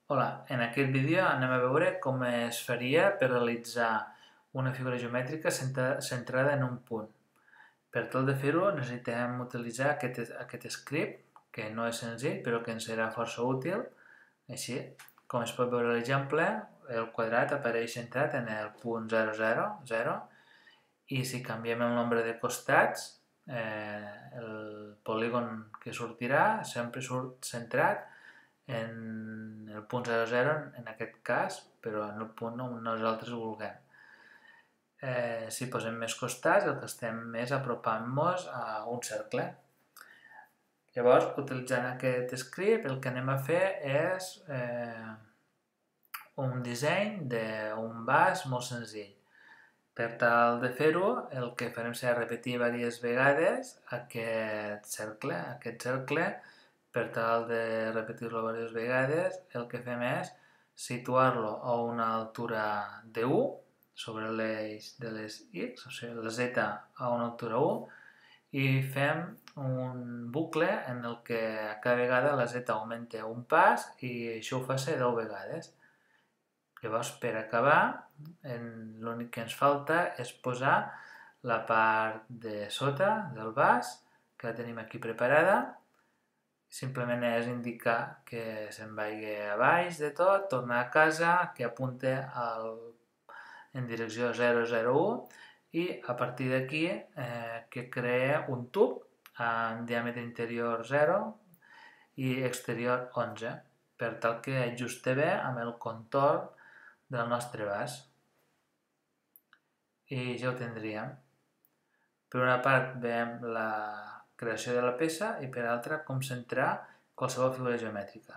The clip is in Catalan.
Hola, en aquest vídeo anem a veure com es faria per realitzar una figura geomètrica centrada en un punt. Per tal de fer-ho necessitem utilitzar aquest script, que no és senzill però que ens serà força útil. Així, com es pot veure a l'exemple, el quadrat apareix centrat en el punt 0, 0, 0 i si canviem el nombre de costats, el polígon que sortirà sempre surt centrat en el punt 0, 0 en aquest cas, però en el punt on nosaltres vulguem. Si posem més costats, el que estem és apropant-nos a un cercle. Llavors, utilitzant aquest script, el que anem a fer és un disseny d'un vas molt senzill. Per tal de fer-ho, el que farem serà repetir diverses vegades aquest cercle. Per tal de repetir-lo diverses vegades, el que fem és situar-lo a una altura de 1 sobre l'eix de les X, o sigui, la Z a una altura 1, i fem un bucle en el que cada vegada la Z augmenta un pas i això ho fa ser 10 vegades. Llavors, per acabar, l'únic que ens falta és posar la part de sota del vas, que la tenim aquí preparada. Simplement és indicar que se'n vagi a baix de tot, tornar a casa, que apunte en direcció 001 i a partir d'aquí que crea un tub amb diàmetre interior 0 i exterior 11 per tal que ajuste bé amb el contorn del nostre vas. I ja ho tindríem. Per una part veiem la creació de la peça i per l'altra com centrar qualsevol figura geomètrica.